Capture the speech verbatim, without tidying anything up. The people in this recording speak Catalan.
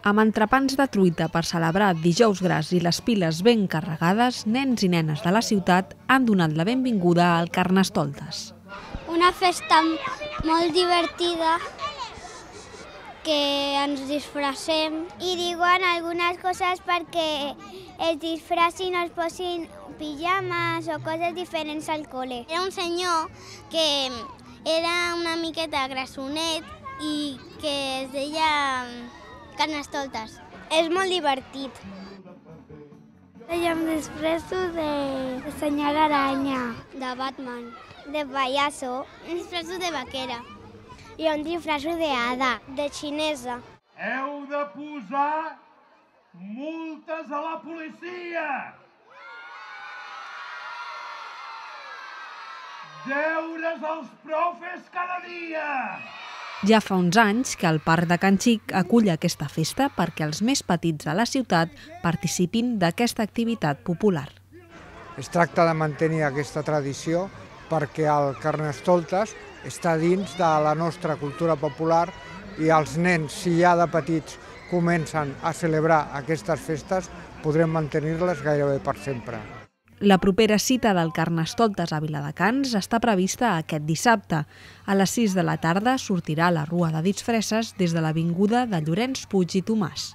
Amb entrepans de truita per celebrar Dijous Gras i les piles ben carregades, nens i nenes de la ciutat han donat la benvinguda al Carnestoltes. Una festa molt divertida, que ens disfressem i diuen algunes coses perquè es disfressin, es posin pijames o coses diferents al col·le. Era un senyor que era una miqueta grassonet i que es deia Carnestoltes. És molt divertit. Jo em disfresso de senyora Aranya, de Batman, de pallasso, em disfresso de vaquera. I un disfresso de hada, de xinesa. Heu de posar multes a la policia! Deures als profes cada dia! Ja fa uns anys que el Parc de Can Xic acull aquesta festa perquè els més petits de la ciutat participin d'aquesta activitat popular. Es tracta de mantenir aquesta tradició perquè el Carnestoltes està dins de la nostra cultura popular i els nens, si ja de petits comencen a celebrar aquestes festes, podrem mantenir-les gairebé per sempre. La propera cita del Carnestoltes a Viladecans està prevista aquest dissabte. A les sis de la tarda sortirà la Rua de Disfresses des de l'avinguda de Llorenç Puig i Tomàs.